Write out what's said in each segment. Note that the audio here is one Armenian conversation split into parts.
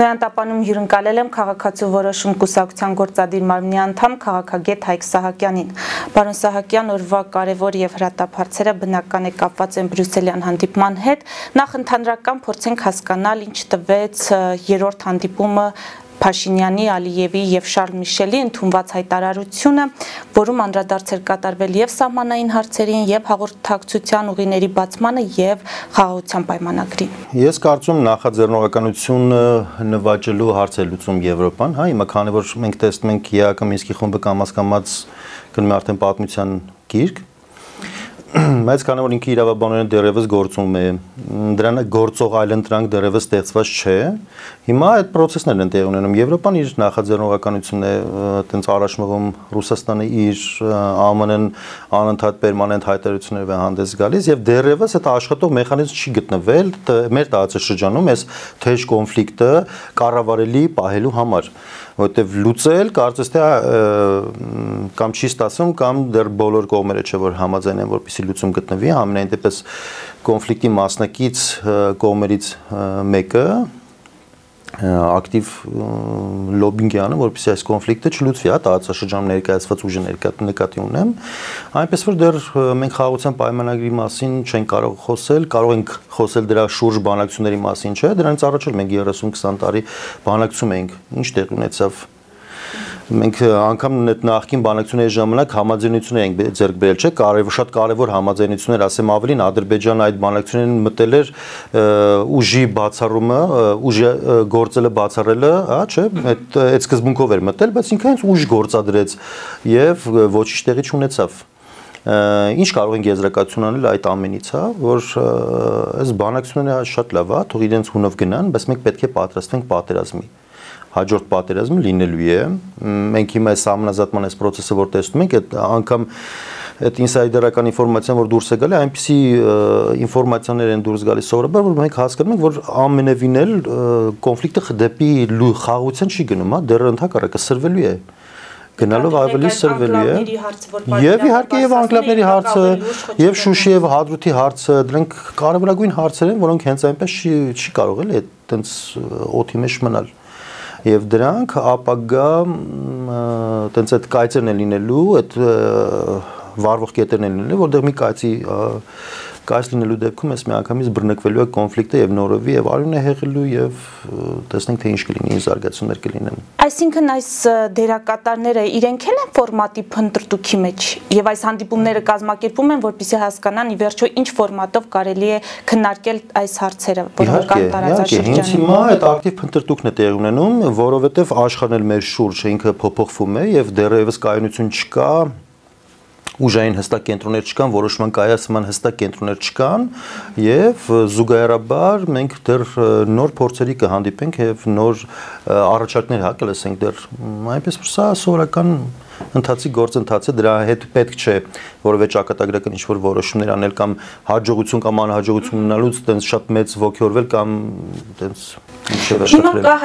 Նոյանտապանում հյուրընկալել եմ քաղաքացու որոշում կուսակցության գործադիր մարմնի անդամ քաղաքագետ Հայկ Սահակյանին։ Պարոն Սահակյան, օրվա կարևոր եւ հրատապ հարցերը բնական է կապված են բրյուսելյան հանդիպման հետ։ Նախ ընդհանրական փորձենք հասկանալ, ինչ տվեց երրորդ հանդիպումը Փաշինյանի, Ալիևի եւ Շարլ Միշելի ընդունված հայտարարությունը, որում անդրադարձ էր կատարվել եւ սահմանային հարցերին, եւ հաղորդակցության ուղիների բացմանը եւ խաղաղության պայմանագրին։ Ես կարծում նախաձեռնողականությունը նվաճելու հարց է լուծում Եվրոպան, հա, հիմա քանի որ մենք տեսնում ենք ԵԱԿ Մինսկի խումբը կամաց գնում է արդեն պատմության գիրք, բայց քանի որ ինքը իրավաբանորեն դեռևս գործում է, դրան գործող այլընտրանք դեռևս ստեղծված չէ, հիմա այդ process-ներն են տեղի ունենում։ Եվրոպան իր նախաձեռնողականությունն է այտենց առաջ մղում, Ռուսաստանը իր ԱՄՆ-ն անընդհատ պերմանենտ հայտարարություններով է հանդես գալիս եւ դեռևս այդ աշխատող մեխանիզմ չի գտնվել մեր տարածաշրջանում այս թեժ կոնֆլիկտը կառավարելի պահելու համար, որտեվ լուծել կարծես թե կամ չի ստացվում կամ դեռ բոլոր կողմերը չէ որ համաձայն են որպեսզի լուծում գտնվի, ամենայն դեպս կոնֆլիկտի մասնակից կողմերից մեկը ակտիվ լոբինգ է անում, որպեսզի այս կոնֆլիկտը չլուծվի, հա, տարածաշրջանում ներկայացված ուժը նկատի ունեմ, այնպես որ դեռ մենք խաղաղության պայմանագրի մասին չենք կարող խոսել, կարող ենք խոսել դրա շուրջ բանակցությունների մասին, չէ, դրանից առաջ էլ մենք 30-20 տարի բանակցում էինք, ինչ տեղ ունեցավ մենք անգամ նախկին բանակցությունների ժամանակ համաձայնություններ ենք ձեռք բերել, չէ, շատ կարևոր համաձայնություններ, ասեմ ավելին, Ադրբեջանը այդ բանակցություններին մտել էր ուժի բացառումը, ուժի գործելը բացառելը, հա, չէ, այդ սկզբունքով էր մտել, բայց ինքը հենց ուժ գործադրեց եւ ոչինչ տեղի չունեցավ։ Ինչ կարող ենք եզրակացություն անել այդ ամենից, հա, որ այս բանակցությունները շատ լավ է, թող իրենց հունով գնան, բայց մենք պետք է պատրաստվենք պատերազմի։ Հաջորդ պատերազմը լինելու է, մենք հիմա այս համանազատման այս process-ը որ տեսնում ենք, այդ անգամ այդ ինսայդերական ինֆորմացիան որ դուրս է գալի, այնպիսի ինֆորմացիաներ են դուրս գալիս սովորաբար, որ մենք հասկանում ենք, որ ամենևին էլ կոնֆլիկտը դեպի խաղաղության չի գնում, հա, դեռ ընդհակառակը սրվելու է։ Գնալով ավելի սրվելու է։ Եվ իհարկե եւ անկլավների հարցը, եւ Շուշի եւ Հադրութի հարցը, դրանք կարևորագույն հարցեր են, որոնք հենց այնպես չի կարող էլի այտենց օդի մեջ մնալ։ Եվ դրանք ապագա այտենց այդ կայծերն են լինելու, այդ վարվող կետերն են լինելու, որտեղ մի կայծ լինելու դեպքում ես միանգամից բռնկվելու է կոնֆլիկտը եւ նորովի եւ արյուն է հեղելու եւ տեսնենք թե ինչ կլինի, ինչ զարգացումներ կլինեն։ Այսինքն այս դերակատարները իրենք են ֆորմատի փնտրտուքի մեջ եւ այս հանդիպումները կազմակերպում են, որպեսզի հասկանան ի վերջո ինչ ֆորմատով կարելի է քննարկել այս հարցերը, որոնք կան տարածաշրջանում։ Հենց հիմա այդ ակտիվ փնտրտուքն է տեղի ունենում, որովհետեւ աշխարհն էլ մեր շուրջ ինքը փոփոխվում է եւ դեռևս կայունություն չկա, ուժային հստակ կենտրոններ չկան, որոշման կայացման հստակ կենտրոններ չկան եւ զուգահեռաբար մենք դեռ նոր փորձերի կհանդիպենք եւ նոր առաջարկներ կլսենք դեռ այնպես որ սա սովորական ընթացի գործընթաց է, դրա հետ պետք չէ որովհետեւ ճակատագրական ինչ-որ որոշումներ անել կամ հաջողություն կամ անհաջողություն ունենալուց այտենց շատ մեծ ոգեորվել կամ այտենց ինչ-որ վերջացնել։ Հիմա կա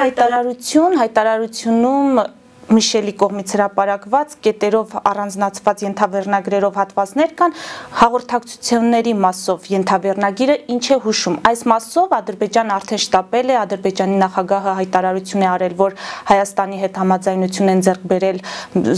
հայտարարությունում Միշելի կողմից հրապարակված կետերով առանձնացված ենթավերնագրերով հատվածներ կան հաղորդակցությունների մասով ենթավերնագիրը ինչ է հուշում այս մասով Ադրբեջանը արդեն շտապել է Ադրբեջանի նախագահը հայտարարություն է արել որ Հայաստանի հետ համաձայնություն են ձեռք բերել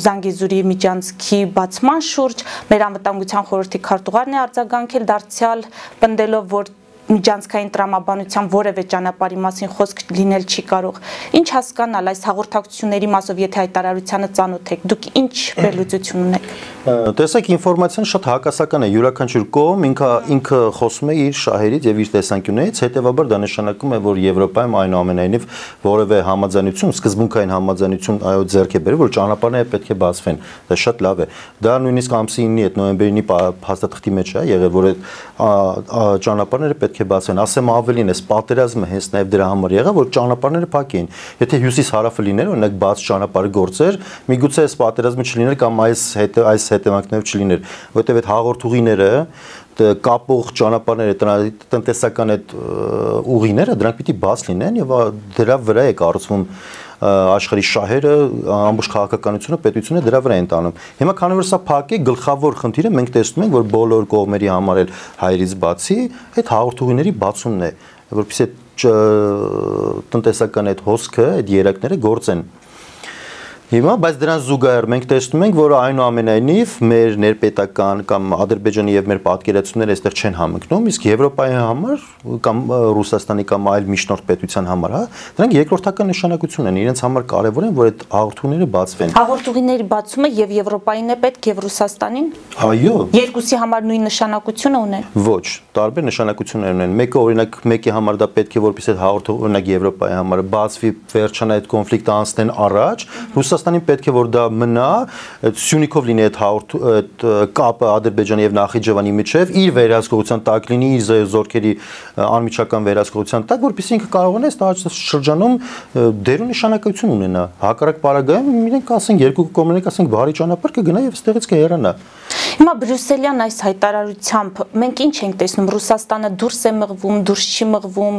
Զանգեզուրի միջանցքի բացման շուրջ մեր անվտանգության խորհրդի քարտուղարն է արձագանքել դարձյալ պնդելով որ միջանցքային տրամաբանության որևէ ճանապարհի մասին խոսք լինել չի կարող։ Ինչ հասկանալ այս հաղորդակցությունների մասով, եթե հայտարարությանը ծանոթ եք, դուք ինչ վերլուծություն ունեք։ Տեսեք, ինֆորմացիան շատ հակասական է, յուրաքանչյուր կողմ ինքը խոսում է իր շահերից եւ իր տեսանկյուններից, հետեւաբար դա նշանակում է, որ Եվրոպայում այնուամենայնիվ որևէ համաձայնություն, սկզբունքային համաձայնություն այո ձեռք է բերել, որ ճանապարհները պետք է բացվեն։ Դա շատ լավ է։ Դա նույնիսկ ամսի 9-ի այդ նոյեմբերի 9-ի փաստաթղթի մեջ է եղել, որ այդ ճանապարհները պետք է բացվեն, ասեմ ավելին, այս պատերազմը հենց նաև դրա համար եղավ, որ ճանապարհները փակեին։ Եթե հյուսիս-հարավը լիներ, օրինակ բաց ճանապարհը գործեր, միգուցե այս պատերազմը չլիներ կամ այս հետևանքներով չլիներ, որովհետև այդ հաղորդուղիները, կապող ճանապարհները, տնտեսական այդ ուղիները, դրանք պիտի բաց լինեն եւ դրա վրա է կառուցվում աշխարհի շահերը, ամբողջ քաղաքականությունը, պետությունը դրա վրա են տանում։ Հիմա քանի որ սա փակ է, գլխավոր խնդիրը մենք տեսնում ենք, որ բոլոր կողմերի համար էլ հայերից բացի այդ հաղորդուղիների բացումն է, որովհետեւ տնտեսական այդ հոսքը, այդ երակները գործեն։ Հիմա, բայց դրան զուգահեռ մենք տեսնում ենք, որ այնուամենայնիվ մեր ներպետական կամ Ադրբեջանի եւ մեր պատկերացումները այստեղ չեն համընկնում, իսկ Եվրոպայի համար կամ Ռուսաստանի կամ այլ միջնորդ պետության համար, հա, դրանք երկրորդական նշանակություն են, իրենց համար կարեւոր են, որ այդ հաղորդումները բացվեն։ Հաղորդումների բացումը եւ Եվրոպային է պետք եւ Ռուսաստանին։ Այո։ Երկուսի համար նույն նշանակությունը ունեն։ Ոչ, տարբեր նշանակություններ ունեն։ Մեկը օրինակ մեկի համար դա պետք է որպես այդ հաղորդում օրինակ Եվրոպայի համար բացվի, վերջանա այդ կոնֆլիկտը անցնեն առաջ, Ռուսաստանին պետք է որ դա մնա, Սյունիքով լինի այդ կապը Ադրբեջանի եւ Նախիջևանի միջեւ, իր վերահսկողության տակ լինի, իր զորքերի անմիջական վերահսկողության տակ, որպեսզի ինքը կարողանա այս շրջանում դեր ու նշանակություն ունենա։ Հակառակ պարագայում իրենք ասենք երկու կողմերից ասենք բարի ճանապարհ կգնա եւ այստեղից կհեռանա։ Հիմա բրյուսելյան այս հայտարարությամբ մենք ինչ ենք տեսնում, Ռուսաստանը դուրս է մղվում, դուրս չի մղվում,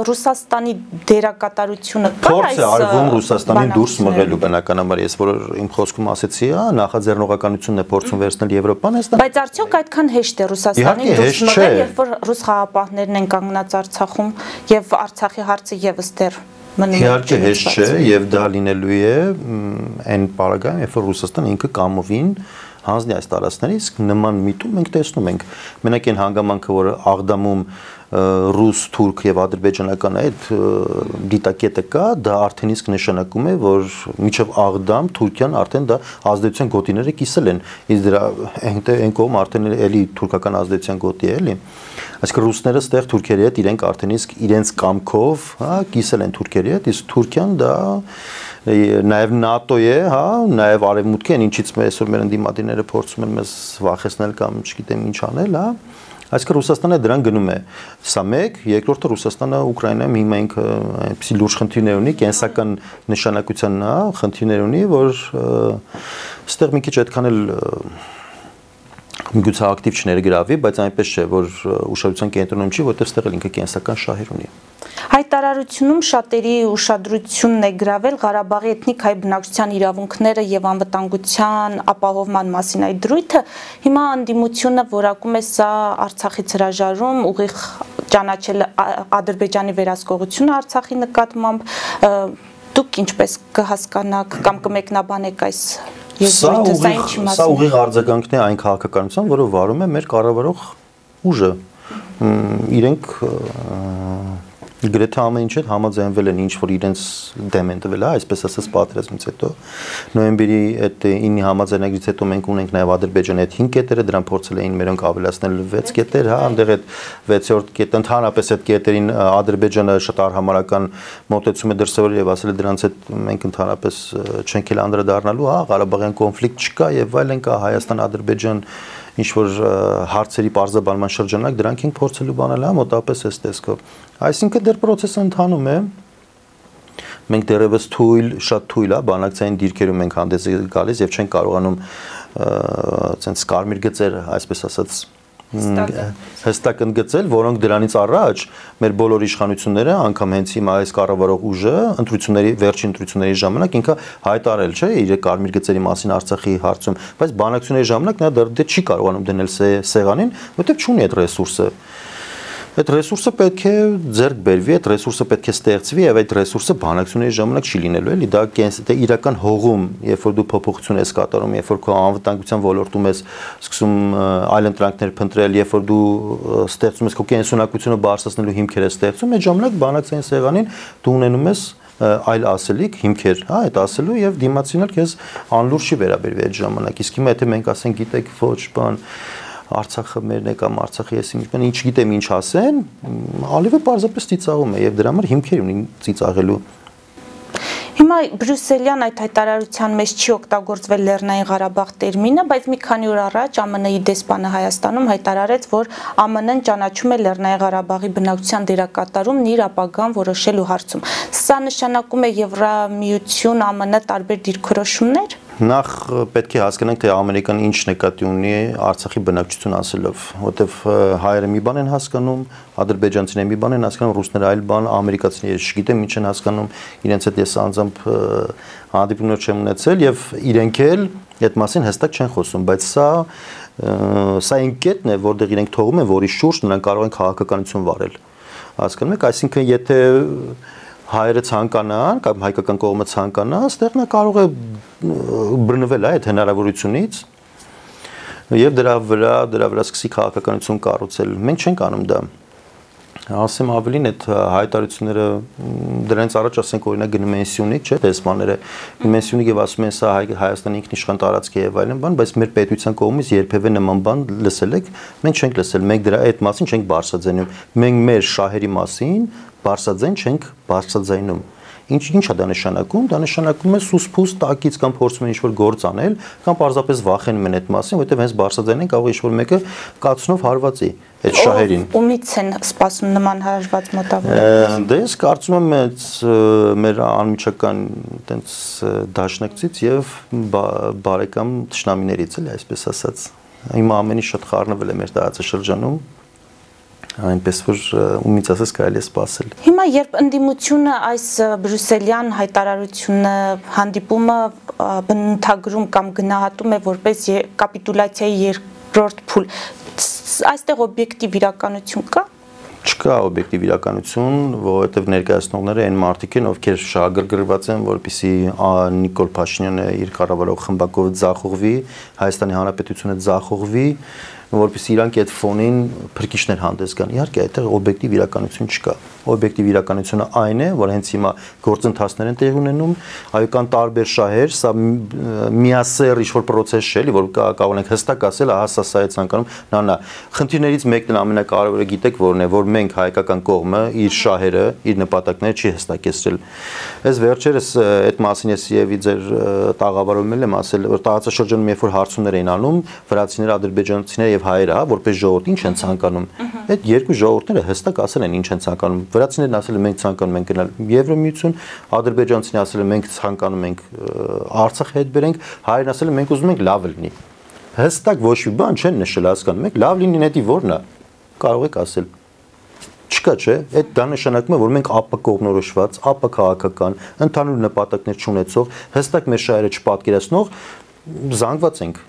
Ռուսաստանի դերակատարությունը կա այս փորձ է արվում Ռուսաստանին դուրս մղելու բնականաբար, ես որ իմ խոսքում ասեցի, նախաձեռնողականությունն է փորձում վերցնել Եվրոպան, բայց արդյոք այդքան հեշտ է Ռուսաստանին դուրս մղել, երբ որ ռուս խաղապահներն են կանգնած Արցախում եւ Արցախի հարցը եւս դեռ մնում է։ Իհարկե հեշտ չէ եւ դա լինելու է այն պարագայում, երբ որ Ռուսաստանը ինքը կամովին հանձնի այս տարածքներից, նման միտում մենք տեսնում ենք։ Մենակ այն հանգամանքը, որ Աղդամում ռուս, թուրք եւ ադրբեջանական այդ դիտակետը կա, դա արդեն իսկ նշանակում է, որ միջև Աղդամ Թուրքիան արդեն դա ազդեցության գոտիները կիսել են։ Իսկ դրա այն կողմ արդեն էլի թուրքական ազդեցության գոտի է, էլի։ Այսինքն ռուսները ստեղ թուրքերի հետ իրենք արդեն իսկ իրենց կամքով, հա, կիսել են թուրքերի հետ, իսկ Թուրքիան դա նաև ՆԱՏՕ է, հա, նաև արևմուտքի են, ինչից այսօր մեր ընդդիմադիրները փորձում են մեզ վախեցնել կամ չգիտեմ ինչ անել, հա։ Այսինքն Ռուսաստանը դրան գնում է։ Սա մեկ, երկրորդը Ռուսաստանը Ուկրաինայում հիմա ինքը այնպեսի լուրջ խնդիրներ ունի, կենսական նշանակության, հա, խնդիրներ ունի, որ այստեղ մի քիչ այդքան էլ միգուցե ակտիվ չներգրավի, բայց այնպես չէ, որ ուշադրության կենտրոնում չի, որտեղ այստեղ էլ ինքը կենսական շահեր ունի։ Հայտարարությունում շատերի ուշադրությունն է գրավել Ղարաբաղի էթնիկ հայ բնակչության իրավունքները եւ անվտանգության ապահովման մասին այդ դրույթը, հիմա անդիմությունը որակում է սա Արցախից հրաժարում, ուղիղ ճանաչել Ադրբեջանի վերահսկողությունը Արցախի նկատմամբ, դուք ինչպես կհասկանաք կամ կմեկնաբանեք այս եզրույթը, սա ինչի մասին։ Սա ուղիղ արձագանքն է այն քաղաքականության, որը վարում է մեր կառավարող ուժը։ Իրենք գրեթե ամեն ինչ համաձայնվել են ինչ որ իրենց դեմ են տվել, այսպես ասած պատերազմից հետո նոյեմբերի այդ 9-ի համաձայնագրից հետո մենք ունենք նաև Ադրբեջանի այդ 5 կետերը, դրան փորձել էին մերոնք ավելացնել 6 կետեր, հա, այնտեղ այդ 6-րդ կետը ընդհանրապես այդ կետերին Ադրբեջանը շատ արհամարական մոտեցում է դրսևորել եւ ասել է դրանց հետ մենք ընդհանրապես չենք էլ անդրադառնալու, հա, Ղարաբաղյան կոնֆլիկտ չկա եւ այլն կա Հայաստան-Ադրբեջան ինչ որ հարցերի բարձրաբանման շրջանակ դրանք ենք փորձելու բանել, հա, մոտապես այս տեսքով։ Այսինքն դեռ process-ը ընթանում է։ Մենք դեռևս շատ թույլ է, բանակցային դիրքերում ենք հանդես գալիս եւ չենք կարողանում այսպես կարմիր գծեր, այսպես ասած, հստակ ընդգծել, որոնք դրանից առաջ մեր բոլոր իշխանությունները, անգամ հենց հիմա այս կառավարող ուժը վերջին ընտրությունների ժամանակ ինքը հայտարարել չէ իր կարմիր գծերի մասին Արցախի հարցում, բայց բանակցությունների ժամանակ նա դեռ չի կարողանում դնել սեղանին, որովհետև չունի այդ ռեսուրսը։ Այդ ռեսուրսը պետք է ձեռք բերվի, այդ ռեսուրսը պետք է ստեղծվի եւ այդ ռեսուրսը բանակցությունների ժամանակ չի լինելու, էլի դա իրական հողում, երբ որ դու փոփոխություն ես կատարում, երբ որ քո անվտանգության ոլորտում ես սկսում այլ ընտրանքներ փնտրել, երբ որ դու ստեղծում ես քո կենսունակությունը բարձրացնելու հիմքեր ես ստեղծում, այդ ժամանակ բանակցային սեղանին դու ունենում ես այլ ասելիք, հիմքեր, հա, այդ ասելու եւ դիմացինը քեզ անլուրջ չի վերաբերվի այդ ժամանակ։ Իսկ հիմա եթե մենք ասենք գիտեք ոչ բան Արցախը մերն է կամ Արցախի ես ինչ գիտեմ ինչ ասեն, ալիվը պարզապես ծիծաղում է եւ դրա համար հիմքեր ունի ծիծաղելու։ Հիմա բրյուսելյան այդ հայտարարության մեջ չի օգտագործվել Լեռնային Ղարաբաղ տերմինը, բայց մի քանի օր առաջ ԱՄՆ-ի դեսպանը Հայաստանում հայտարարեց, որ ԱՄՆ-ն ճանաչում է Լեռնային Ղարաբաղի բնակչության դերակատարումն իր ապագան որոշելու հարցում։ Սա նշանակում է Եվրամիություն, ԱՄՆ տարբեր դիրքորոշումներ։ Նախ պետք է հասկանանք, թե Ամերիկան ինչ նկատի ունի Արցախի բնակչություն ասելով, որտեվ հայերը մի բան են հասկանում, ադրբեջանցիները մի բան են հասկանում, ռուսները այլ բան, ամերիկացիները չգիտեմ ինչ են հասկանում, իրենց հետ ես անձամբ հանդիպումներ չեմ ունեցել եւ իրենք էլ այդ մասին հստակ չեն խոսում, բայց սա այն կետն է, որտեղ իրենք թողում են, որի շուրջ նրանք կարող են քաղաքականություն վարել։ Հասկանում եք, այսինքն եթե հայերը ցանկանան կամ հայկական կողմը ցանկանա, այստեղ նա կարող է բռնվել այդ հնարավորությունից եւ դրա վրա սկսի քաղաքականություն կառուցել։ Մենք չենք անում դա։ Ասեմ ավելին այդ հայտարարությունները դրանից առաջ ասենք օրինակ գնում են Սյունիք, չէ՞, դեսպանները Սյունիք եւ ասում են սա Հայաստանի ինքնիշխան տարածք է եւ այլն բան, բայց մեր պետության կողմից երբևէ նման բան լսել եք, մենք չենք լսել, մենք դրա այդ մասին չենք բարձրաձայնում, մենք մեր շահերի մասին բարձրաձայն չենք բարձրաձայնում։ Ինչ է դա նշանակում։ Դա նշանակում է սուսփուս տակից կամ փորձում են ինչ-որ գործ անել, կամ պարզապես վախենում են այդ մասին, որովհետև հենց բարձրաձայնեն կարող ինչ-որ մեկը կացնով հարվածի այդ շահերին։ Ումից են սպասում նման հարված մոտավորություն։ Դե ես կարծում եմ մեր անմիջական այտենց դաշնակցից եւ բարեկամ թշնամիներից էլի, այսպես ասած։ Հիմա ամեն ինչ շատ խառնվել է մեր տարածաշրջանում։ Այնպես որ ումից ասես կարելի է սպասել։ Հիմա երբ ընդդիմությունը այս բրյուսելյան հայտարարությունը հանդիպումը բնութագրում կամ գնահատում է որպես կապիտուլյացիայի երկրորդ փուլ, այստեղ օբյեկտիվ իրականություն կա։ Չկա օբյեկտիվ իրականություն, որովհետև ներկայացնողները այն մարդիկ են, ովքեր շահագրգռված են, որպեսզի Նիկոլ Փաշինյանը իր կառավարող խմբակով ձախողվի, Հայաստանի Հանրապետությունը ձախողվի, որպեսզի իրանք այդ ֆոնին փրկիչներ հանդես գան։ Իհարկե, այդտեղ օբյեկտիվ իրականություն չկա։ Օբյեկտիվ իրականությունը այն է, որ հենց հիմա գործընթացներ են տեղի ունենում, այո, կան տարբեր շահեր, սա միասեռ ինչ-որ process չէ, էլի, որ կարող ենք հստակ ասել, ահա սա է ցանկանում, նա։ Խնդիրներից մեկն ամենակարևորը գիտեք որն է, որ մենք հայկական կողմը իր շահերը, իր նպատակները չի հստակեցրել։ Այս վերջերս այդ մասին ես եւ ձեր տաղավարում եմ ասել, որ տարածաշրջանում երբ որ հարցումներ էին անում, վրացիները, ադրբեջանցիները եւ հայերը, հա, որպես ժողովուրդ ինչ են ցանկանում։ Այդ երկու ժողովուրդները հստակ ասել են ինչ են ցանկանում։ Վրացիներն ասել են մենք ցանկանում ենք գնալ Եվրոմիություն, ադրբեջանցիներն ասել են մենք ցանկանում ենք Արցախ հետ բերենք, հայերն ասել են մենք ուզում ենք լավ լինի։ Հստակ ոչ մի բան չեն նշել, հասկանում եք, լավ լինի նետի որն է։ Կարող եք ասել։ Չկա, չէ՞։ Այդ դա նշանակում է, որ մենք ապակողմնորոշված, ապաքաղաքական, ընդհանուր նպատակներ չունեցող, հստակ մեր շահերը չպատկերացնող զանգված ենք։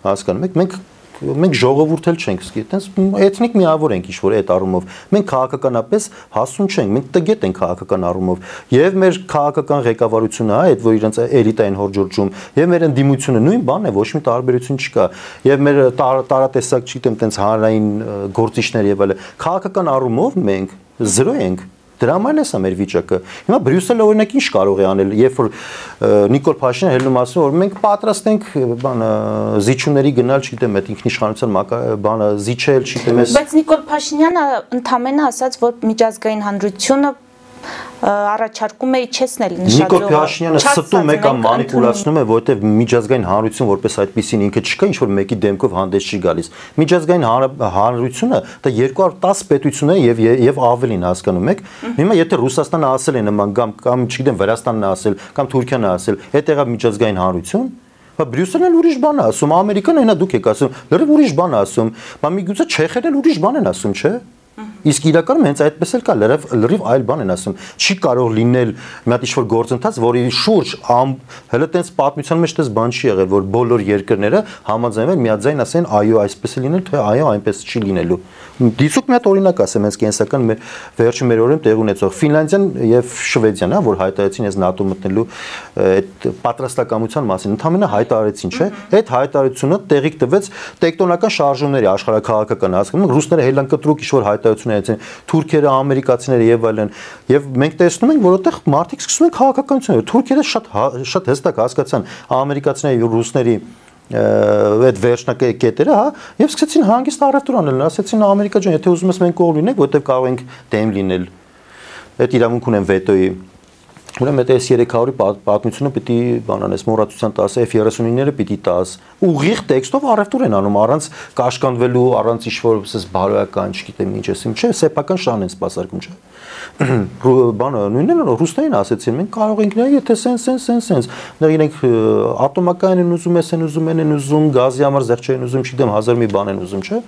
Հասկանում եք, մենք ժողովուրդ էլ չենք, այտենց էթնիկ միավոր ենք ինչ-որ այդ առումով։ Մենք քաղաքականապես հասուն չենք, մենք տգետ ենք քաղաքական առումով։ Եվ մեր քաղաքական ղեկավարությունը, այդ որ իրենց էլիտային հորջորջում, եւ մեր ընդդիմությունը նույն բանն է, ոչ մի տարբերություն չկա։ Եվ մեր տարատեսակ, չգիտեմ, այտենց հանրային գործիչներ եւ այլն, քաղաքական առումով մենք զրո ենք։ Դրա համար է սա մեր վիճակը։ Հիմա Բրյուսելը օրինակ ինչ կարող է անել, երբ որ Նիկոլ Փաշինյանը հելնում ասում որ մենք պատրաստ ենք բանը զիջումների գնալ, չգիտեմ, այդ ինքնիշխանության բանը զիջել, չգիտեմ, բայց Նիկոլ Փաշինյանը ընդհանրապես ասաց, որ միջազգային հանրությունը առաջարկում է իջեցնել նշադրողը։ Նիկոլ Փաշինյանը ստում է կամ մանիպուլացնում է, որովհետև միջազգային հանրություն որպես այդպեսին ինքը չկա, ինչ որ մեկի դեմքով հանդես չի գալիս։ Միջազգային հանրությունը դա 210 պետություն է եւ ավելին, հասկանում եք։ Հիմա եթե Ռուսաստանը ասել է նման կամ չգիտեմ Վրաստանն է ասել կամ Թուրքիան է ասել, այդ եղավ միջազգային հանրություն, բա Բրյուսելն էլ ուրիշ բան է ասում, Ամերիկան այնա դուք եք ասում, լրիվ ուրիշ բան է ասում, բա միգուցե չեխերն էլ ուրիշ բան են ասում, չէ՞։ Իսկ իրականում հենց այդպես էլ կա, լրիվ այլ բան են ասում։ Չի կարող լինել մի հատ ինչ-որ գործընթաց, որի շուրջ հələ տենց պատմության մեջ դες բան չի եղել, որ բոլոր երկրները համաձայնվեն միաձայն ասեն, այո, այսպես է լինել, թե այո, այնպես չի լինելու։ Դիցուկ մի հատ օրինակ ասեմ, հենց կենսական վերջին մեր օրերում տեղ ունեցող Ֆինլանդիան եւ Շվեդիան, հա, որ հայտարարեցին այս ՆԱՏՕ մտնելու այդ պատրաստակամության մասին, ընդհանրապես հայտարարեցին, չէ՞։ Այդ հայտարարությունը տեղիք տվեց տեկտոնական շարժումների աշխարհակաղակական հասկանում, ռուսները հելանկտրուկ ինչ-որ հայտարարություն են, թուրքերը, ամերիկացիները եւ այլն, եւ մենք տեսնում ենք, որ այդտեղ մարդիկ սկսում են քաղաքականություն, թուրքերը շատ հստակ հասկացան ամերիկացիների եւ ռուսների այդ վերջնակետերը, հա, եւ սկսեցին հանգիստ առևտուր անել, ասեցին Ամերիկա ջան, եթե ուզում ես մենք կողմ լինենք, որտեվ կարող ենք դեմ լինել։ Այդ իրավունք ունեն վետոյի։ Ուրեմն այդ S300-ի պատմությունը պիտի բանանես մոռացության տաս, F-35-ները պիտի տաս։ Ուղիղ տեքստով առևտուր են անում, առանց կաշկանդվելու, առանց ինչ-որ բարոյական, չգիտեմ ինչ ասեմ, չէ, սեփական շան են սպասարկում, չէ։ Բանը նույնն է, ռուսներին ասեցին, մենք կարող ենք նայել, եթե սենց։ Դա իրենք ատոմական են ուզում, են ուզում, գազի համար զեղչ են ուզում, չգիտեմ, հազար մի բան են ուզում, չէ։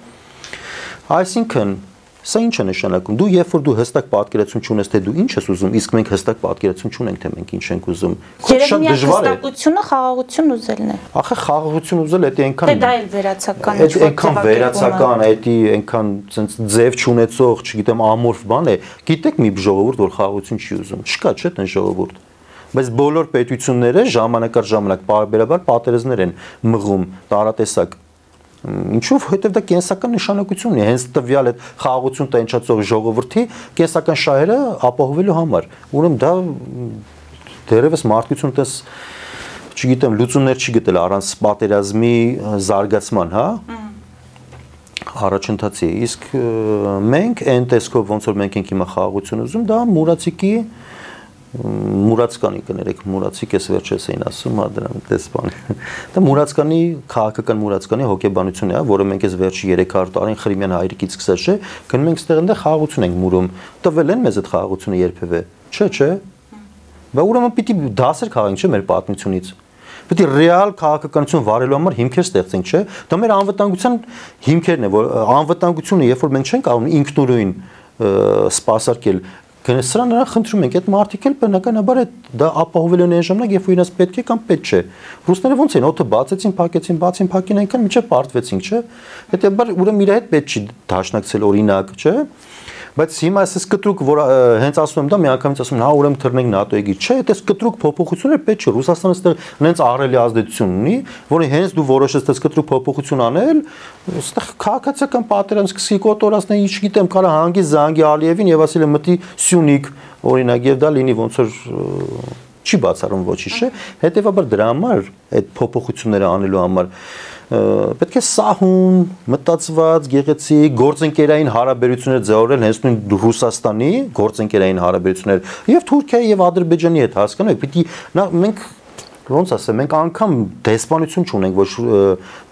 Այսինքն Սա ինչ է նշանակում։ Դու երբ որ դու հստակ պատկերացում չունես, թե դու ինչ ես ուզում, իսկ մենք հստակ պատկերացում չունենք, թե մենք ինչ ենք ուզում։ Շատ դժվար է։ Հստակությունը խաղաղություն ուզելն է։ Ախե խաղաղություն ուզել դա այնքան դա էլ վերացական է, այնքան վերացական, դա այնքան ցենց ձև չունեցող, չգիտեմ, ամորֆ բան է։ Գիտեք մի ժողովուրդ, որ խաղաղություն չի ուզում։ Չկա, չէ՞, այն ժողովուրդ։ Բայց բոլոր պետությունները ժամանակ առ ժամանակ բարբերաբար պատերազմներ են մղում, տարատեսակ։ Ինչով, հետև դա կենսական նշանակություն ունի, հենց տվյալ այդ խաղաղություն տենչացող ժողովրդի կենսական շահերը ապահովելու համար։ Ուրեմն դա դերևս մարդկություն տես, չգիտեմ, լուծումներ չի գտել առանց պատերազմի զարգացման, հա։ Առաջընթացի, իսկ մենք այն տեսքով ոնց որ մենք ենք հիմա խաղաղություն ուզում, դա մուրացիկի Մուրացկանի կներեք, մուրացիկ ես վերջերս էին ասում, հա դրան տեսփան։ Դա մուրացկանի քաղաքական մուրացկանի հոգեբանությունն է, որը մենք այս վերջի 300 տարին Խրիմյան հայրիկից սկսած չէ, գնում ենք ստեղ այնտեղ խաղաղություն ենք մուրում։ Տվել են մեզ այդ խաղաղությունը երբևէ։ Չէ։ Բա ուրեմն պիտի դասեր քաղենք, չէ, մեր պատմությունից։ Պետք է ռեալ քաղաքականություն վարելու համար հիմքեր ստեղծենք, չէ։ Դա մեր անվտանգության հիմքերն է, որ անվտանգությունը, երբ որ մենք չենք կարող ինքնուրույն սպասարկել Սրա նրան խնդրում ենք, այդ մարդիկ էլ բնականաբար դա ապահովելու են այն ժամանակ, երբ որ իրենց պետք է կամ պետք չէ։ Ռուսները ոնց են, օդը բացեցին, փակեցին, այնքան մինչև պարտվեցինք, չէ։ Հետեւաբար ուրեմն իր հետ պետք չի դաշնակցել օրինակ, չէ։ Բայց հիմա այսպես կտրուկ, որ հենց ասում եմ դա, միանգամից ասում են, հա, ուրեմն թռնենք ՆԱՏՕ-ի գիր։ Չէ, այդպես կտրուկ փոփոխություններ պետք չէ։ Ռուսաստանը այստեղ նենց ահռելի ազդեցություն ունի, որը հենց դու որոշես այդպես կտրուկ փոփոխություն անել, այստեղ քաղաքացիական պատերազմ սկսի կոտորածներ, ինչ գիտեմ, կարա հանգի Զանգի Ալիևին եւ ասել է մտի Սյունիք, օրինակ, եւ դա լինի ոնց որ չի բացառում ոչինչ, չէ։ Հետեւաբար դրա համար այդ փոփոխությունները անելու համար պետք է սահուն, մտածված, գեղեցիկ, գործընկերային հարաբերություններ ձևավորել հենց նույն Ռուսաստանի գործընկերային հարաբերություններ եւ Թուրքիայի եւ Ադրբեջանի հետ, հասկանու եք, պիտի մենք ոնց ասեմ, մենք անգամ դեսպանություն չունենք ոչ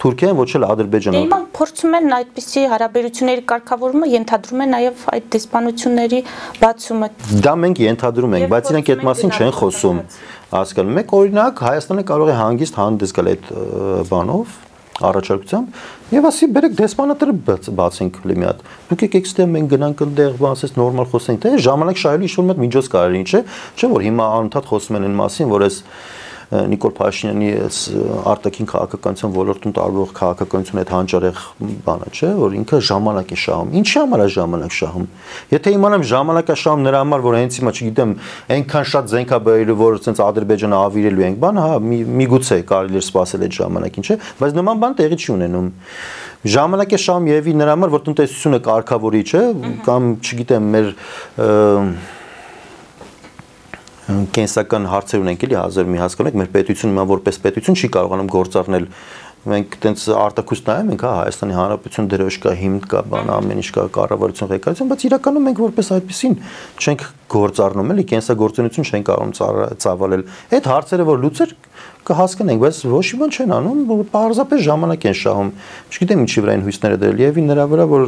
Թուրքիան, ոչ էլ Ադրբեջանը։ Հիմա փորձում են այդպիսի հարաբերությունների կարգավորումը ենթադրում են նաեւ այդ դեսպանությունների բացումը։ Դա մենք ենթադրում ենք, բայց իրենք այդ մասին չեն խոսում։ Հասկանում եք, օրինակ Հայաստանը կարող է հանգիստ հանդես գալ այդ բանով առաջարկությամբ եւ ասի բերեք դեսպանատերը բացենք լի մի հատ դուք եկեք ստեղ մենք գնանք այնտեղ բացես նորմալ խոսենք թե ժամանակ շահելու ինչ-որ մի միջոց կարելի չէ որ հիմա անընդհատ խոսում են այն մասին որ այս Նիկոլ Փաշինյանի արտաքին քաղաքականության ոլորտում տարվող քաղաքականության այդ հանճարեղ բանը չէ որ ինքը ժամանակ է շահում ինչի համար է ժամանակ շահում եթե իմանամ ժամանակ է շահում նրա համար որ հենց հիմա չգիտեմ այնքան շատ զենք է բերելու որ ցենց Ադրբեջանը ավիրելու ենք բան հա միգուցե կարելի է սպասել այդ ժամանակին չէ բայց նման բան տեղի չի ունենում ժամանակ է շահում եւի նրա համար որ տնտեսությունը կարգավորի չէ կամ չգիտեմ մեր կենսական հարցեր ունենք էլի հազար մի հասկանու եք մեր պետությունը հիմա որպես պետություն չի կարողանում գործառնել մենք տենց արտակույց նայում ենք հա Հայաստանի Հանրապետություն դրոշ կա հիմք կա բան ամեն ինչ կա կառավարություն ղեկավարություն բայց իրականում մենք որպես այդպեսին չենք գործառնում էլի կենսագործունեություն չենք կարողանում ծավալել այդ հարցերը որ լուծեր կհասկանենք բայց ոչ մի բան չեն անում պարզապես ժամանակ են շահում չգիտեմ ինչի վրա են հույսները դրել եւ նրա վրա որ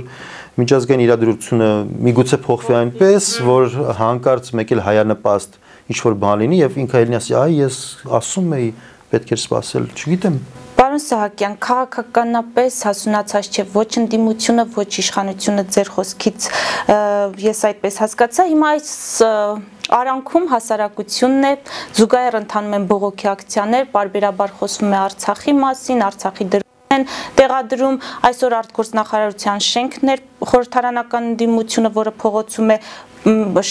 միջազգային իրադրությունը միգուցե փոխվի այնպես որ հանկարծ մեկ էլ հայանպաստ ինչ որ բան լինի եւ ինքը ելնի ասի այ ես ասում էի պետք էր սпасել չգիտեմ Պարոն Սահակյան քաղաքականապես հասունացած չէ ոչ ընդդիմությունը ոչ իշխանությունը ձեր խոսքից ես այդպես հասկացա հիմա այս Արանքում հասարակությունն է զուգահեռ ընթանում են բողոքի ակցիաներ բարբերաբար խոսվում է Արցախի մասին Արցախի են տեղադրում այսօր արտգործնախարարության շենքներ խորհրդարանական ընդդիմությունը որը փողոցում է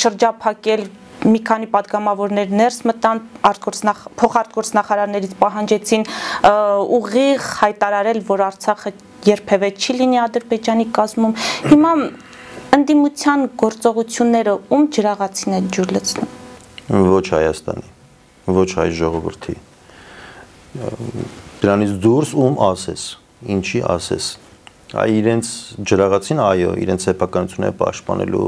շրջափակել մի քանի падգամավորներ ներս մտան փոխարտգործնախարարներից պահանջեցին ուղիղ հայտարարել որ Արցախը երբևէ չի լինի Ադրբեջանի կազմում հիմա ընդդիմության գործողությունները ում ջրաղացին են ջուր լցնում ոչ Հայաստանի ոչ հայ ժողովրդի դրանից դուրս ում ասես ինչի ասես այ իրենց ջրաղացին այո իրենց սեփականությունը պաշտպանելու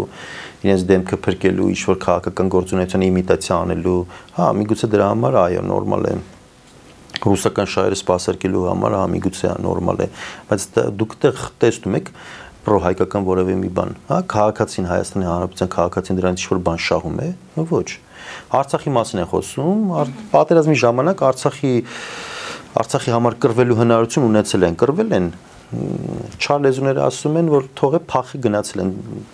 իրենց դեմքը փրկելու ինչ որ քաղաքական գործունեության իմիտացիա անելու հա միգուցե դրա համար այո նորմալ է ռուսական շահերը սպասարկելու համար հա միգուցե նորմալ է բայց դուք դեռ տեսնում եք պրոհայկական որևէ մի բան հա քաղաքացին Հայաստանի Հանրապետության քաղաքացին դրանից ինչ որ բան շահում է ոչ Արցախի մասին են խոսում պատերազմի ժամանակ Արցախի համար կռվելու հնարավորություն ունեցել են կռվել են չար լեզուները ասում են, որ թողե փախի գնացել են,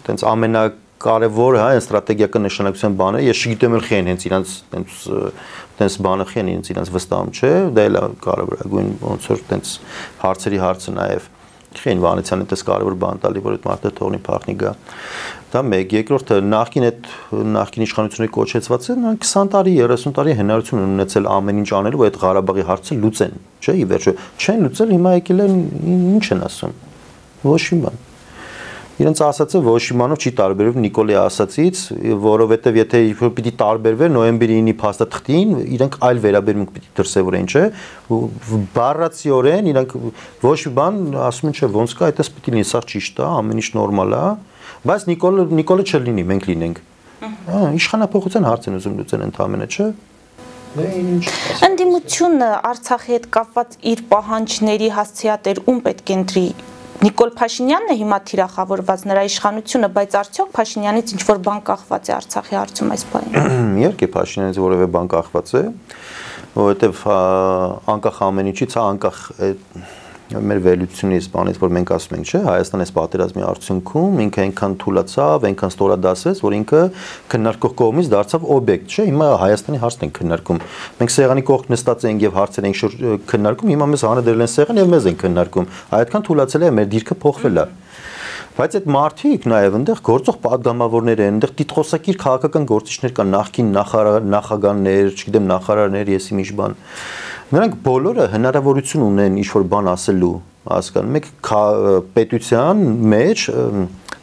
տենց ամենակարևորը, հա, այն ստրատեգիական նշանակության բանը, ես չգիտեմ էլ խեն հենց իրանց տենց բանը խեն իրանց վստահում չէ, դա էլ կարևորագույն ոնց որ տենց հարցերի հարցը նաև Խեն Վանեցյանը դες կարևոր բան տալի, որ այդ մարդը թողնի փախնի գա։ Դա մեկ, երկրորդը նախկին իշխանությունների կոչեցված են 20 տարի, 30 տարի հնարություն են ունեցել ամեն ինչ անելու, որ այդ Ղարաբաղի հարցը լուծեն, չէ՞, ի վերջո չեն լուծել, հիմա եկել են ինչ են ասում։ Ոչ մի բան։ Իրենց ասածը ոչ մի բանով չի տարբերվում Նիկոլի ասածից, որովհետև եթե պիտի տարբերվեր նոյեմբերի 9-ի փաստաթղթին, իրենք այլ վերաբերմունք պիտի դրսևորեն, չէ՞։ Բառացիորեն իրենք ոչ մի բան ասում են, չէ, ոնց կա, այդպես պիտի լինի, սա ճիշտ է, ամեն ինչ նորմալ է, բայց Նիկոլը չլինի, մենք լինենք։ Իշխանափոխության հարց են ուզում լուծեն ընդամենը, չէ՞։ Ընդդիմությունը Արցախի հետ կապված իր պահանջների հասցեատեր ում պետք է ընտրի Նիկոլ Փաշինյանն է հիմա թիրախավորված նրա իշխանությունը, բայց արդյոք Փաշինյանից ինչ-որ բան կախված է Արցախի հարցում այս բանին։ Իհարկե Փաշինյանից որևէ բան կախված է, որովհետև անկախ ամեն ինչից, անկախ մեր վերլուծությունից, բանից, որ մենք ասում ենք, չէ, Հայաստանը այս պատերազմի արդյունքում ինքը այնքան թուլացավ, այնքան ստորադասեց, որ ինքը քննարկող կողմից դարձավ օբյեկտ, չէ, հիմա Հայաստանի հարցն ենք քննարկում։ Մենք սեղանի կողք նստած ենք եւ հարցեր ենք քննարկում, հիմա մեզ հանրդրել են սեղան եւ մեզ են քննարկում։ Այդքան թուլացել է, մեր դիրքը փոխվել է։ Բայց այդ մարդիկ նաև այնտեղ գործող падգամավորներ են, այնտեղ տիտղոսակիր քաղաքական գործիչներ կան, նախկին նախագահներ, չգիտեմ, նախարարներ, եսի ինչ բան։ Նրանք բոլորը հնարավորություն ունեն ինչ-որ բան ասելու, հասկանում եք, պետության մեջ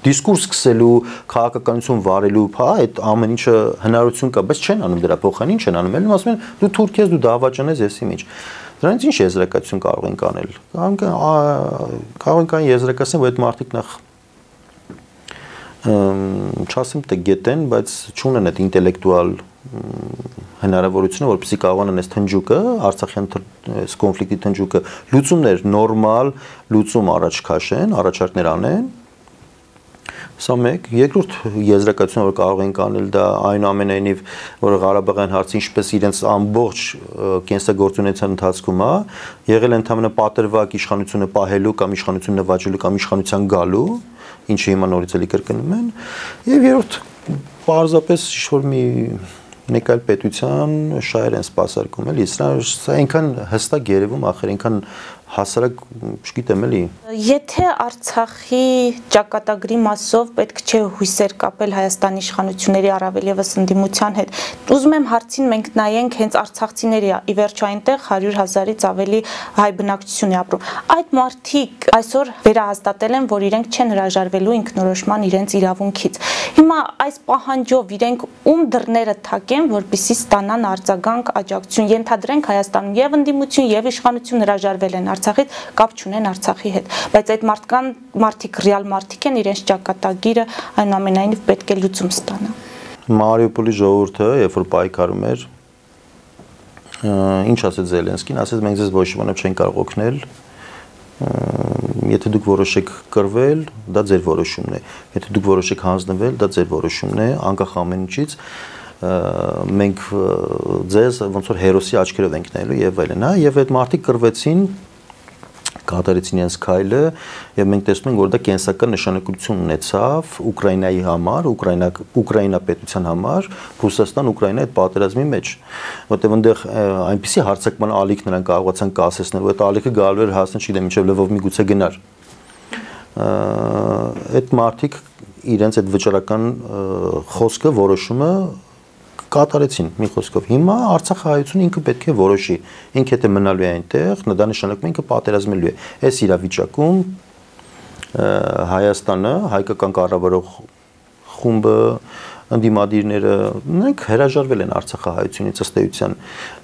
դիսկուրս սկսելու, քաղաքականություն վարելու, հա, այդ ամեն ինչը հնարավորություն կա, բայց չեն անում դրա փոխանին, չեն անում, ելնում ասում են դու թուրք ես, դու դավաճան ես, եսի ինչ։ Դրանից ինչ եզրակացություն կարող ենք անել։ Կարող ենք այն եզրակացնել, որ այդ մարդիկ նախ չասեմ թե գետեն, բայց չունեն այդ ինտելեկտուալ հնարավորությունը, որպեսզի կարողանան այս թնջուկը, Արցախյան այս կոնֆլիկտի թնջուկը լուծումներ նորմալ լուծում առաջ քաշեն, առաջարկներ անեն։ Սա մեկ, երկրորդ եզրակացությունը, որ կարող ենք անել, դա այնուամենայնիվ, որ Ղարաբաղյան հարցը ինչպես իրենց ամբողջ կենսագործունեության ընթացքում է, եղել ընդհանրապես պատրվակ իշխանությունը պահելու կամ իշխանություն նվաճելու կամ իշխանության գալու, ինչը հիմա նորից էլի կրկնում են, եւ երրորդ պարզապես ինչ-որ մեկ այլ պետության շահեր են սպասարկում, էլի, սա այնքան հստակ երևում, ախր այնքան հասարակ, չգիտեմ էլի։ Եթե Արցախի ճակատագրի մասով պետք չէ հույսեր կապել Հայաստանի իշխանությունների առավել եւս ընդդիմության հետ, ուզում եմ հարցին մենք նայենք հենց արցախցիների, ի վերջո այնտեղ 100,000-ից ավելի հայ բնակչություն է ապրում։ Այդ մարդիկ այսօր վերահաստատել են, որ իրենք չեն հրաժարվելու ինքնորոշման իրենց իրավունքից։ Հիմա այս պահանջով իրենք ում դռները թակեն, որպեսզի ստանան արձագանք, աջակցություն, ենթադրենք Հայաստանում եւ ընդդիմություն եւ իշխանություն հրաժարվել են Արցախից, կապ չունեն Արցախի հետ, բայց այդ մարդիկ ռեալ մարդիկ են, իրենց ճակատագիրը այնուամենայնիվ պետք է լուծում ստանա։ Մարիուպոլի ժողովուրդը, երբ որ պայքարում էր, ինչ ասեց Զելենսկին, ասեց մենք ձեզ ոչ մի բանով չենք կարող օգնել, եթե դուք որոշեք կռվել, դա ձեր որոշումն է, եթե դուք որոշեք հանձնվել, դա ձեր որոշումն է, անկախ ամեն ինչից մենք ձեզ ոնց որ հերոսի աչքերով ենք նայելու եւ այլն, հա, եւ այդ մարդիկ կռվեցին, կատարեցին իրենց քայլը եւ մենք տեսնում ենք որ դա կենսական նշանակություն ունեցավ Ուկրաինայի համար, Ուկրաինա պետության համար, Ռուսաստան-Ուկրաինա այդ պատերազմի մեջ, որտեղ այնտեղ այնպիսի հարձակման ալիք նրանք կարողացան կասեցնել, որ այդ ալիքը գալու էր հասնել, չգիտեմ, մինչեւ Լվով միգուցե գնար։ Այդ մարդիկ իրենց այդ վճռական խոսքը, որոշումը կատարեցին մի խոսքով։ Հիմա Արցախի հայությունը ինքը պետք է որոշի, ինքը եթե մնալու է այնտեղ, դա նշանակում է ինքը պատերազմելու է։ Այս իրավիճակում Հայաստանը, հայկական կառավարող խումբը, ընդդիմադիրները, նրանք հրաժարվել են Արցախի հայությունից ըստ էության։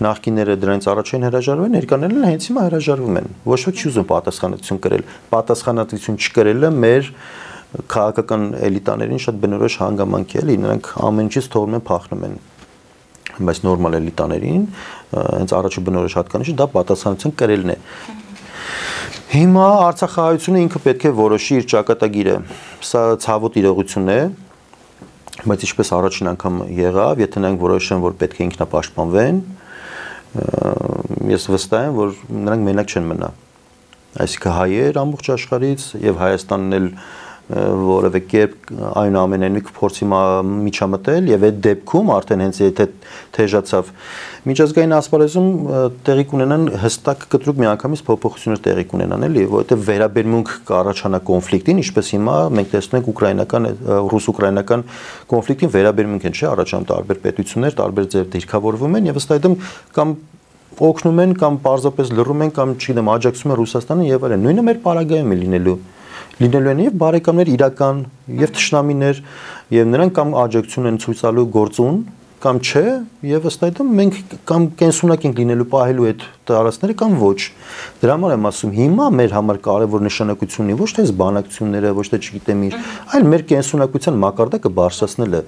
Նախկինները դրանից առաջ են հրաժարվել, ներկաներն հենց հիմա հրաժարվում են։ Ոչ ոք չի ուզում պատասխանատվություն կրել։ Պատասխանատվություն չկրելը մեր քաղաքական էլիտաներին շատ բնորոշ հանգամանք է, էլի, նրանք ամեն ինչից թողնում են փախնում են։ Բայց նորմալ էլիտաներին հենց առաջի բնորոշ հատկանիշը դա պատասխանատվություն կրելն է։ Հիմա Արցախի հայությունը ինքը պետք է որոշի իր ճակատագիրը։ Սա ցավոտ իրողություն է, բայց ինչպես առաջին անգամ եղավ, եթե նրանք որոշեն, որ պետք է ինքնապաշտպանվեն, ես վստահ եմ, որ նրանք մենակ չեն մնա։ այսինքն հայեր ամբողջ աշխարհից եւ Հայաստանն էլ որևէ կերպ այնուամենայնիվ փորձի միջամտել եւ այդ դեպքում արդեն հենց եթե թեժացավ միջազգային ասպարեզում տեղի կունենան հստակ կտրուկ միանգամից փոփոխություններ տեղի կունենան էլի որովհետեւ վերաբերմունք կառաջանա կոնֆլիկտին ինչպես հիմա մենք տեսնում ենք ուկրաինական ռուս-ուկրաինական կոնֆլիկտին վերաբերմունք են չէ առաջանում տարբեր պետություններ տարբեր ձև դիրքավորվում են եւ ըստ այդմ կամ օգնում են կամ պարզապես լռում են կամ չգիտեմ աջակցում են Ռուսաստանին եւ այլն նույնը մեր պարագայում է լինելու են եւ բարեկամներ իրական եւ թշնամիներ եւ նրանք կամ աջակցություն են ցույց տալու գործուն կամ չէ եւ ըստ այդմ մենք կամ կենսունակ ենք լինելու պահելու այդ տարածքները կամ ոչ դրա համար եմ ասում հիմա մեր համար կարևոր նշանակություն ունի ոչ թե բանակցությունները ոչ թե չգիտեմ իր այլ մեր կենսունակության մակարդակը բարձրացնելը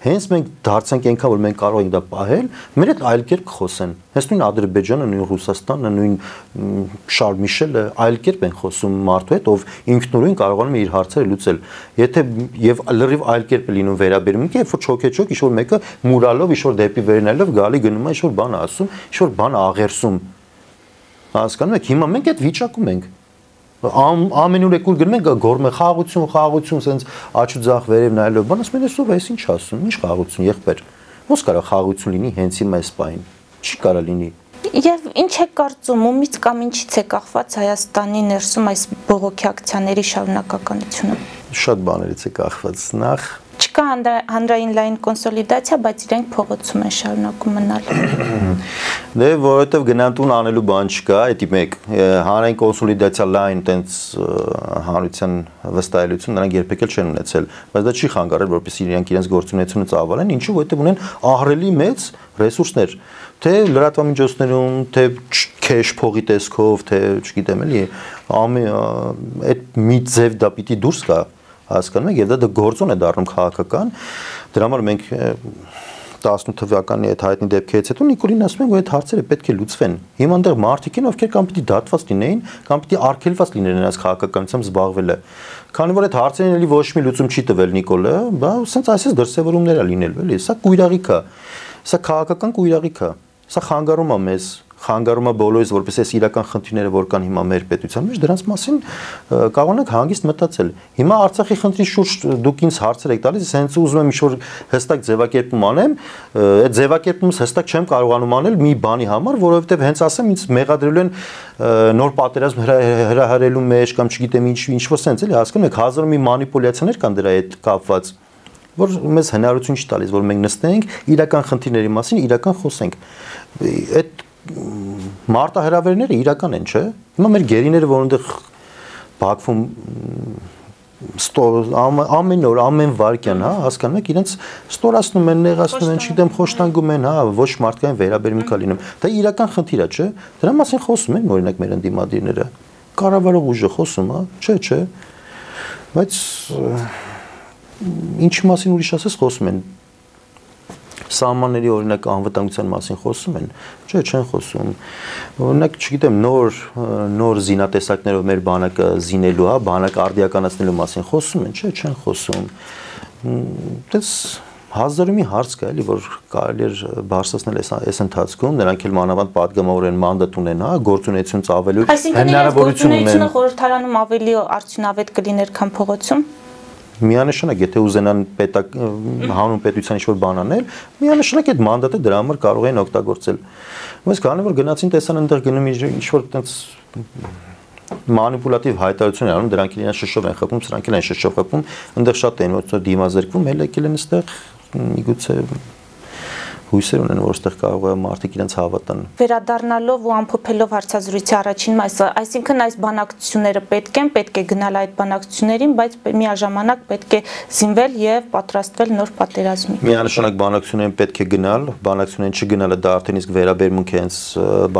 հենց մենք դարձանք այնքան որ մենք կարող ենք դա պահել մեր հետ այլ կերպ խոսեն հենց նույն Ադրբեջանը նույն Ռուսաստանը նույն Շարլ Միշելը այլ կերպ են խոսում մարդու հետ ով ինքնուրույն կարողանում է իր հարցերը լուծել եթե եւ լրիվ այլ կերպ է լինում վերաբերմունքը երբ որ չոքեչոք ինչ որ մեկը մուրալով ինչ որ դեպի վերնալով գալի գնում է ինչ որ բան ասում ինչ որ բան աղերսում հասկանում եք հիմա մենք այդ վիճակում ենք ամենուր եկուր գնում են գորմե խաղաղություն սենց աչու ձախ վերև նայելով բան ասում են էսով էս ինչ ասում ինչ խաղաղություն եղբայր ո՞ս կարա խաղաղություն լինի հենց հիմա այս պահին չի կարա լինի եւ ինչ է կարծում ումից կամ ինչից է կախված Հայաստանի ներսում այս բողոքի ակցիաների շարունակականությունը շատ բաներից է կախված նախ չկա հանրային լայն կոնսոլիդացիա, բայց իրենք փողոցում են շարունակում մնալ։ Դե որովհետև գնանտուն անելու բան չկա, էդի մեկ հանրային կոնսոլիդացիա լայն տենց հանրության վստահելիություն նրանք երբեք էլ չեն ունեցել, բայց դա չի խանգարել, որպեսզի իրենք իրենց գործունեությունը ծավալեն, ինչու որովհետև ունեն ահռելի մեծ ռեսուրսներ, թե լրատվամիջոցներում, թե քեշ փողի տեսքով, թե չգիտեմ էլի, այդ մի ձև դա պիտի դուրս գա հասկանում եք, եւ դա գործոն է դառնում քաղաքական, դրա համար մենք 18 թվականի այդ հայտնի դեպքերից հետո Նիկոլին ասում ենք, որ այդ հարցերը պետք է լուծվեն։ Հիմա այնտեղ մարդիկ են, ովքեր կամ պիտի դատված լինեին, կամ պիտի արգելված լինեն նրանց քաղաքականությամբ զբաղվելը։ Քանի որ այդ հարցերին էլի ոչ մի լուծում չի տվել Նիկոլը, բա սենց այսպես դրսևորումներ է լինելու, էլի, սա կույրաղիք է։ Սա քաղաքական կույրաղիք է։ Սա խանգարում է մեզ խանգարում է բոլորիս որպես այս իրական խնդիրները որ կան հիմա մեր պետության մեջ դրանց մասին կարող ենք հանգիստ մտածել հիմա Արցախի խնդրի շուրջ դուք ինձ հարցեր եք տալիս հենց ուզում եմ ինչ-որ հստակ ձևակերպում անեմ այդ ձևակերպումս հստակ չեմ կարողանում անել մի բանի համար որովհետև հենց ասեմ ինձ մեղադրելու են նոր պատերազմ հրահրելու մեջ կամ չգիտեմ ինչ-որ սենց էլի հասկանում եք հազար մի մանիպուլյացիաներ կան դրա հետ կապված որ մեզ հնարավորություն չի տալիս որ մենք նստենք իրական խնդիրների մասին իրական խոսենք այդ մարտահրավերները իրական են, չէ՞։ Հիմա մեր գերիները որոնտեղ Բաքվում ամեն օր, ամեն վայրկյան, հա, հասկանում եք, իրենց ստորացնում են, նեղացնում են, չգիտեմ, խոշտանգում են, հա, ոչ մարդկային վերաբերմունք է լինում։ Դա իրական խնդիր է, չէ՞։ Դրա մասին խոսում են օրինակ մեր ընդդիմադիրները։ Կառավարող ուժը խոսում, հա, չէ։ Բայց ինչի մասին ուրիշ ասես խոսում են Սահմանների օրինակ անվտանգության մասին խոսում են, չէ, չեն խոսում։ Օրինակ, չգիտեմ, նոր զինատեսակներով մեր բանակը զինելու, հա, բանակը արդիականացնելու մասին խոսում են, չէ, չեն խոսում։ Դες հազարի մի հարց կա, էլի, որ կարելի է բարձրացնել այս ընթացքում, նրանք էլ մանավանդ падգամավոր են, մանդատ ունեն, հա, գործունեություն ծավալելու հնարավորություն ունեն։ Այսինքն, խորհրդարանում ավելի արդյունավետ կլիներ, քան փողոցում։ Միանշանակ, եթե ուզենան հանուն պետության ինչ-որ բան անել, միանշանակ այդ մանդատը դրա համար կարող են օգտագործել։ Բայց քանի որ գնացին տեսան այնտեղ գնում ինչ-որ այդպես մանիպուլատիվ հայտարարություններ անում, դրանք իրենց շշով են խփում, սրանք են շշով խփում, այնտեղ շատ են որ դիմազերկվում, հենց եկել են այստեղ միգուցե հույսեր ունեն, որ այստեղ կարող է մարդիկ իրենց հավատան։ Վերադառնալով ու ամփոփելով հարցազրույցի առաջին մասը, այսինքն այս բանակցությունները պետք է գնալ այդ բանակցություններին, բայց միաժամանակ պետք է զինվել եւ պատրաստվել նոր պատերազմի։ Միանշանակ բանակցություններին պետք է գնալ, բանակցություններին չգնալը դա արդեն իսկ վերաբերմունք է հենց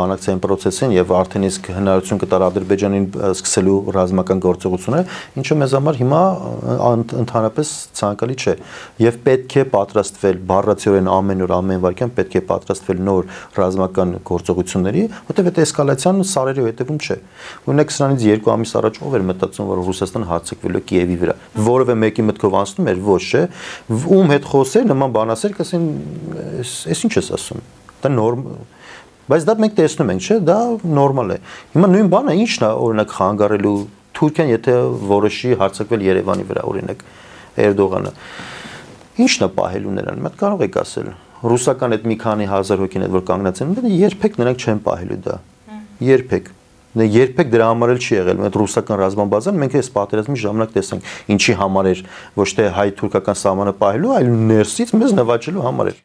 բանակցային process-ին եւ արդեն իսկ հնարավորություն կտար Ադրբեջանին սկսելու ռազմական գործողությունը, ինչը մեզ համար հիմա ընդհանրապես ցանկալի չէ եւ պետք է պատրաստվել բառացիորեն ամեն օր ամեն վարքյան պետք է պատրաստվել նոր ռազմական գործողությունների, որտեղ այդ էսկալացիան սարերի հետևում չէ։ Օրինակ սրանից 2 ամիս առաջ ով էր մտածում, որ Ռուսաստանը հարձակվելու է Կիևի վրա։ Որևէ մեկի մտքով անցնում էր, ոչ չէ։ Ում հետ խոսեր, նման բան ասեր, կասեն, «Էս ինչ ես ասում»։ Դա նորմ, Բայց դա մենք տեսնում ենք, չէ՞, դա նորմալ է։ Հիմա նույն բանը ի՞նչն է օրինակ խանգարելու Թուրքիան, եթե որոշի հարձակվել Երևանի վրա, օրինակ Էրդողանը։ Ինչն է պահելու նրան։ Մենք կարող եք ասել ռուսական այդ մի քանի հազար հոգին այդ որ կանգնած են, երբեք նրանք չեն պահելու դա։ Երբեք։ Երբեք դրա համար էլ չի եղել։ Այդ ռուսական ռազմաբազան մենք այս պատերազմի ժամանակ տեսանք, ինչի համար էր ոչ թե հայ-թուրքական սահմանը պահելու, այլ ներսից մեզ նվաճելու համար էր։